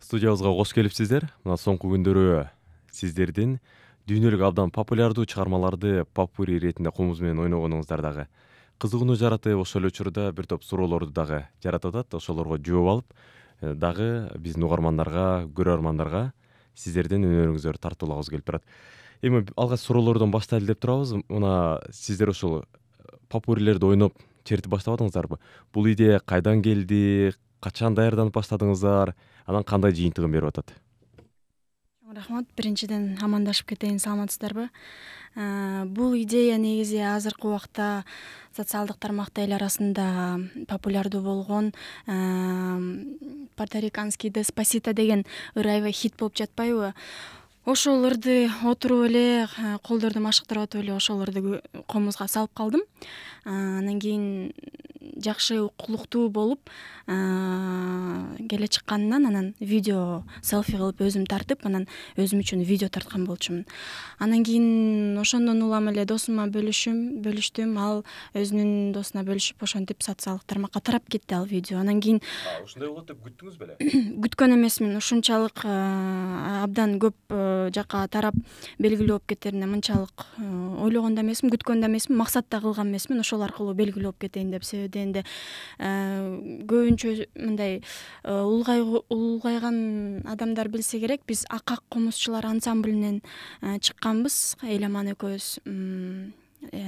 Студиябызга кош келипсиздер. Мына соңку күндөрү сиздердин дүйнөлүк абдан популярдуу чыгармаларды попури иретинде комуз менен ойногонуңуздар дагы кызыгууну жаратып, ошол эле учурда бир топ суроолорду дагы жаратып атат. Ошолорго жооп алып, дагы биздин угармандарга, көрөрмандарга сиздердин өнөрүңүздөрдү тартуулагыбыз келип турат. Эми алгач суроолордон баштайлы деп турабыз. Мына сиздер ошол попурилерди ойноп чертип баштабадыңыздарбы? Бул идея кайдан келди? Качан даярданып баштадыңыздар? Анан кандай жыйынтыгын берип атат? Рахмат. Биринчиден амандашып кетейин, саламатсыздарбы? Бул идея негизи азыркы убакта социалдык тармакта эл арасында популярдуу болгон порториканский Деспасито деген ыр аябай хит болуп жатпайбы? Ошол ырды отуруп эле, колдорду машыктырып атып эле ошол ырды комузга салып калдым. Анан кийин жакшы укулуктуу болуп келе чыкканынан анан видео селфи кылып өзүм тартып, анан өзүм үчүн видео тарткан болчумун. Анан кийин ошондон улам эле досума бөлүштүм. Ал өзүнүн досуна бөлүшүп, ошентип социалдык тармакка тарап кетти ал видео. Анан кийин Ушундай болот деп күттүңүз беле? күткөн эмесмин. Ушунчалык абдан көп жака тарап белгилүү болуп кетерине мынчалык ойлогон да эмесмин, күткөн да эмесмин, максат да кылган эмесмин. Ошол аркылуу белгилүү болуп кетейин деп. Себеби дегенде көбүнчө мындай улгайган адамдар билсе керек, биз Акак комузчулар ансамблинен чыкканбыз. Эламан экөөбүз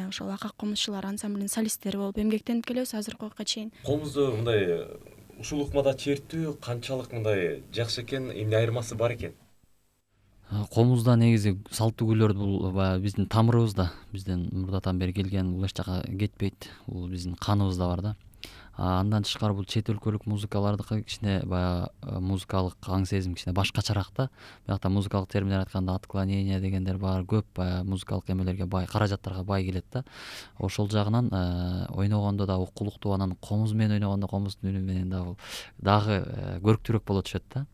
ошол Акак комузчулар ансамблинин солисттери болуп эмгектенип келебиз азыркы убакка чейин. Комузду мындай ушул ыкмада чертүү канчалык мындай жакшы экен, эмне айырмасы бар экен? Комузда негизи салттуу күйлөрдү бул баягы биздин тамырыбызда, бизден мурдатан бери келген, бул эч жака кетпейт. Бул биздин каныбызда бар да. Андан тышкары бул чет өлкөлүк музыкалардыкы кичине баягы музыкалык аң сезим кичине башкачараак да. Биякта музыкалык терминдер айтканда отклонение дегендер бар, көп баягы музыкалык эмелерге бай, каражаттарга бай келет да. Ошол жагынан ойногондо да укулуктуу, анан комуз менен ойногондо комуздун үнү менен дагы көрктүүрөөк боло түшөт да.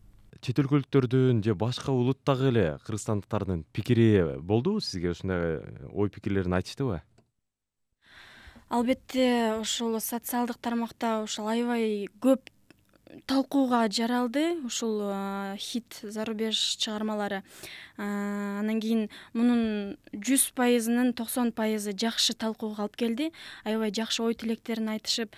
Чет өлкөлүктөрдүн же башка улуттагы эле кыргызстандыктардын пикири болдубу сизге? Ушундай ой пикирлерин айтыштыбы? Албетте, ошол социалдык тармакта ошол аябай көп талкууга жаралды ушул хит зарубеж чыгармалары. Анан кийин мунун 100%, 90% жакшы талкууга алып келди. Аябай жакшы ой тилектерин айтышып,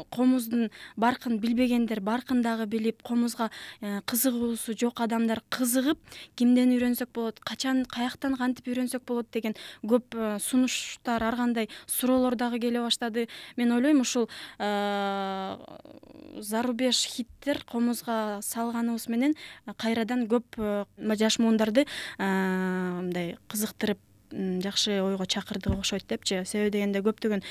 комуздун баркын билбегендер баркын дагы билип, комузга кызыгуусу жок адамдар кызыгып, кимден үйрөнсөк болот, качан, каяктан, кантип үйрөнсөк болот деген көп сунуштар, ар кандай суроолор дагы келе баштады. Мен ойлойм, ушул зарубеж хиттер комузга салганыбыз менен кайрадан көп жаш муундарды мындай кызыктырып, жакшы ойго чакырды окшойт депчи. Себеби дегенде көптөгөн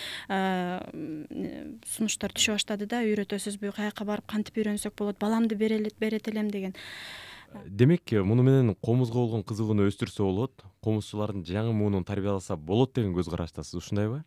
сунуштар түшө баштады да, үйрөтөсүзбү, каяка барып кантип үйрөнсөк болот, баламды берет элем деген. Демек, муну менен комузга болгон кызыгууну өстүрсө болот, комузчулардын жаңы муунун тарбияласа болот деген көз караштасыз, ушундайбы?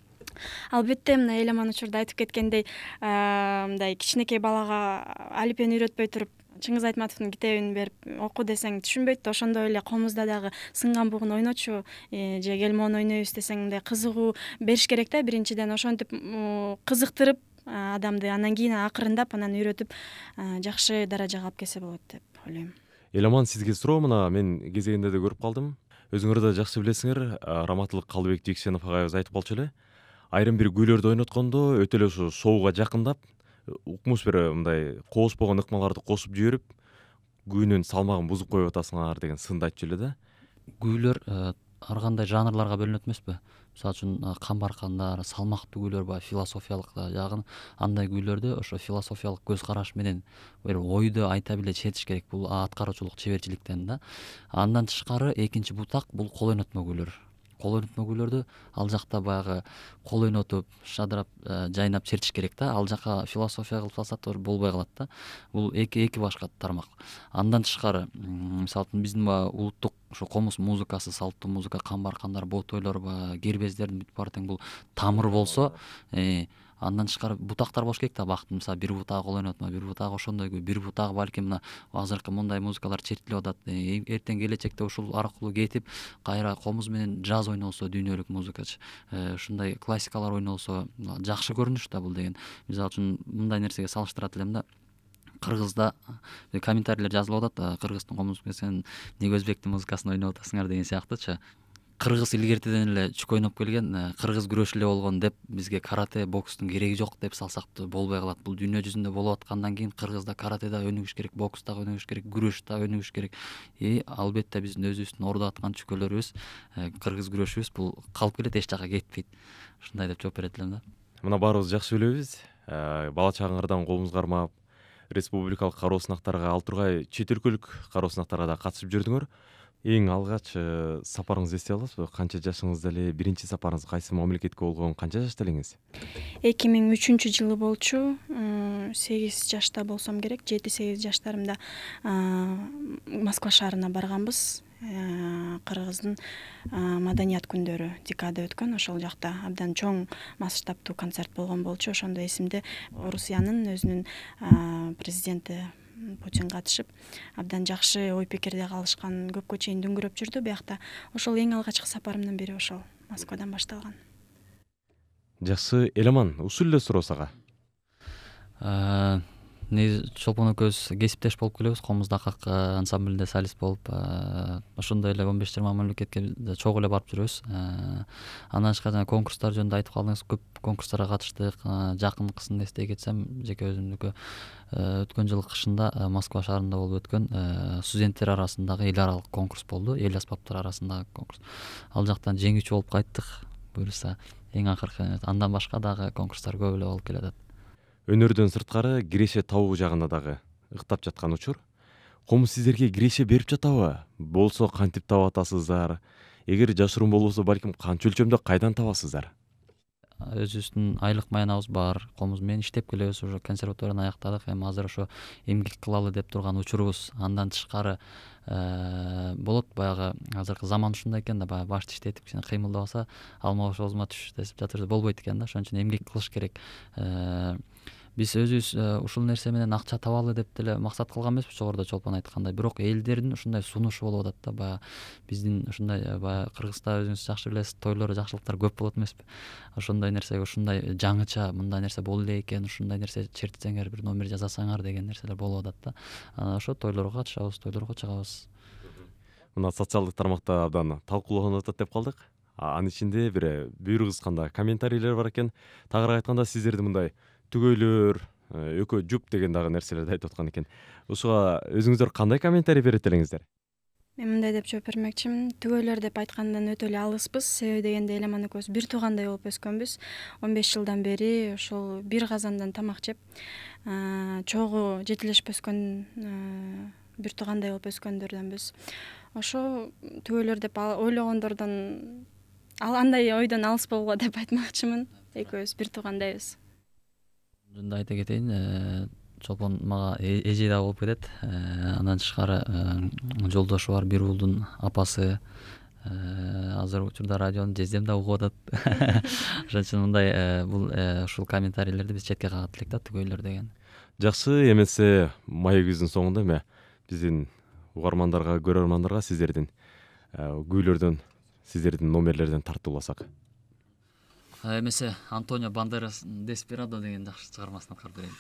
Албетте, мына Эламан учурда айтып кеткендей, мындай кичинекей балага алипени үйрөтпөй туруп, Чыңгыз Айтматовдун китебин берип оку десең түшүнбөйт да, ошондой эле комузда дагы сынган бугун ойночу же келмон ойнойбуз десең мындай кызыгуу бериш керек да. Биринчиден ошентип кызыктырып адамды, анан кийин акырындап анан үйрөтүп жакшы даражага алып келсе болот деп ойлойм. Эламан, сизге суроо. Мына мен кезегинде да көрүп калдым. Өзүңөр да жакшы билесиңер, Раматылык Калыбек Жекшенов агайыбыз айтып болчу эле. Айрым бир күүлөрдү ойноткондо өтө эле ушу шоуга жакындап, укмуш бир мындай коошпогон ыкмаларды кошуп жиберип, күүнүн салмагын бузуп коюп атасыңар деген сынды айтчу эле да. Күүлөр ар кандай жанрларга бөлүнөт эмеспи? Мисалы үчүн камбаркандар, салмактуу күүлөр бар, философиялык жагын, андай күүлөрдү ошо философиялык көз караш менен бир ойду айта биле чечиш керек. Бул аткаруучулук чеберчиликтен да. Андан тышкары экинчи бутак бул кол ойнотмо күүлөр. Кол ойнотмо күүлөрдү ал жакта баягы кол ойнотуп, шадырап, жайнап чертиш керек да. Ал жака философия кылып салсак да болбой калат да. Бул эки башка тармак. Андан тышкары, мисалы үчүн биздин улуттук ошо комуз музыкасы, салттуу музыка, камбаркандар, ботойлор, кербездердин бүт баары тең бул тамыр болсо, андан тышкары бутактар болуш керек да. Бактын мисалы бир бутагы кол ойнотмо, бир бутагы ошондой, бир бутагы балким мына азыркы мындай музыкалар чертилип атат. Эртең келечекте ушул аркылуу кетип, кайра комуз менен джаз ойнолсо, дүйнөлүк музыкачы, ушундай классикалар ойнолсо жакшы көрүнүш да бул деген. Мисалы үчүн мындай нерсеге салыштырат элем да. кыргызда комментарийлер жазылып атат, кыргыздын комуз сен эмнеге өзбектин музыкасын ойноп атасыңар деген сыяктуучу. Кыргыз илгертеден эле чүк ойноп келген, кыргыз күрөш эле болгон деп бизге карате, бокстун кереги жок деп салсак да болбой калат. Бул дүйнө жүзүндө болуп аткандан кийин кыргызда карате да өнүгүш керек, бокс да өнүгүш керек, күрөш да өнүгүш керек. Албетте биздин өзүбүздүн ордо аткан чүкөлөрүбүз, кыргыз күрөшүбүз бул калып келет, эч жака кетпейт. Ушундай деп жооп берет элем да. Мына баарыбыз жакшы билебиз. Бала чагыңардан колуңуз кармап, республикалык кароо сынактарга ал тургай чет өлкөлүк кароо сынактарга да катышып жүрдүңөр. Эң алгач сапарыңызды эстей аласызбы? Канча жашыңызда эле биринчи сапарыңыз кайсы мамлекетке болгон, канча жашта элеңиз? 2003 болчу. 8 жашта болсом керек, 7-8 жаштарымда Москва шаарына барганбыз. Кыргыздын маданият күндөрү декада өткөн, ошол жакта абдан чоң масштабтуу концерт болгон болчу. Ошондо эсимде, Орусиянын өзүнүн президенти Путин катышып, абдан жакшы ой пикирде калышкан, көпкө чейин дүңгүрөп жүрдү биякта. Ошол эң алгачкы сапарымдын бири ошол Москвадан башталган. Жакшы, Эламан, ушул эле суроо сага. Негизи Чолпон экөөбүз кесиптеш болуп келебиз, комуздакак ансамблинде солист болуп, ошондой эле 15-20 мамлекетке чогуу эле барып жүрөбүз. Андан тышкары жана конкурстар жөнүндө айтып калдыңыз, көп конкурстарга катыштык. Жакынкысын эстей кетсем, жеке өзүмдүкү өткөн жылы кышында Москва шаарында болуп өткөн студенттер арасындагы эл аралык конкурс болду, эл аспаптар арасындагы конкурс. Ал жактан жеңүүчү болуп кайттык, буюрса эң акыркы. Андан башка дагы конкурстар көп эле болуп келатат. Өнөрдөн сырткары киреше табуу жагында дагы ыктап жаткан учур. Комуз сиздерге киреше берип жатабы? Болсо кантип таап атасыздар? Эгер жашыруун болбосо, балким канча өлчөмдө кайдан табасыздар? Өзүбүздүн айлык маянабыз бар, комуз менен иштеп келебиз, уже консерваторияны аяктадык, эми азыр ошо эмгек кылалы деп турган учурубуз. Андан тышкары болот, баягы азыркы заман ушундай экен да, баягы башты иштетип кичине кыймылдабаса, алма бош оозума түш десип жатыр, болбойт экен да. Ошон үчүн эмгек кылыш керек. Биз өзүбүз ушул нерсе менен акча табалы деп деле максат кылган эмеспиз, жогоруда Чолпон айткандай. Бирок элдердин ушундай сунушу болуп атат да, баягы биздин ушундай баягы Кыргызда өзүңүз жакшы билесиз, тойлор, жакшылыктар көп болот эмеспи? Ошондой нерсеге ушундай жаңыча мындай нерсе боло эле экен, ушундай нерсе чертсеңер, бир номер жасасаңар деген нерселер болуп атат да. Ошо тойлорго катышабыз, тойлорго чыгабыз. Мына социалдык тармакта абдан талкууланып атат деп калдык. Анын ичинде бир буйрук ызганда комментарийлер бар экен. Тагыраак айтканда, сиздерди мындай түгөйлөр, экөө жуп деген дагы нерселерди айтып аткан экен. Ушуга өзүңүздөр кандай комментарий берет элеңиздер? Мен мындай деп жооп бермекчимин. Түгөйлөр деп айткандан өтө эле алыспыз. Себеби дегенде Эламан экөөбүз бир туугандай болуп өскөнбүз. 15 жылдан бери ошол бир казандан тамак жеп, чогуу жетилешип өскөн, бир туугандай болуп өскөндөрдөнбүз. Ошо түгөйлөр деп ойлогондордон, андай ойдон алыс болгула деп айтмакчымын. Экөөбүз бир туугандайбыз. Жөнүндө айта кетейин, Чолпон мага эже да болуп кетет. Андан тышкары жолдошу бар, бир уулдун апасы. Азыр учурда радиону жездем да угуп атат. Ошон үчүн мындай бул ушул комментарийлерди биз четке кагат элек да, түгөйлөр деген. Жакшы, эмесе маегибиздин соңунда эме биздин угармандарга, көрөрмандарга сиздердин күүлөрдөн, сиздердин номерлерден тартууласак. Эмесе Антонио Бандерас Деспирадо деген жакшы чыгармасын аткарып берейик.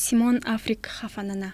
Симон Африк Хафанана.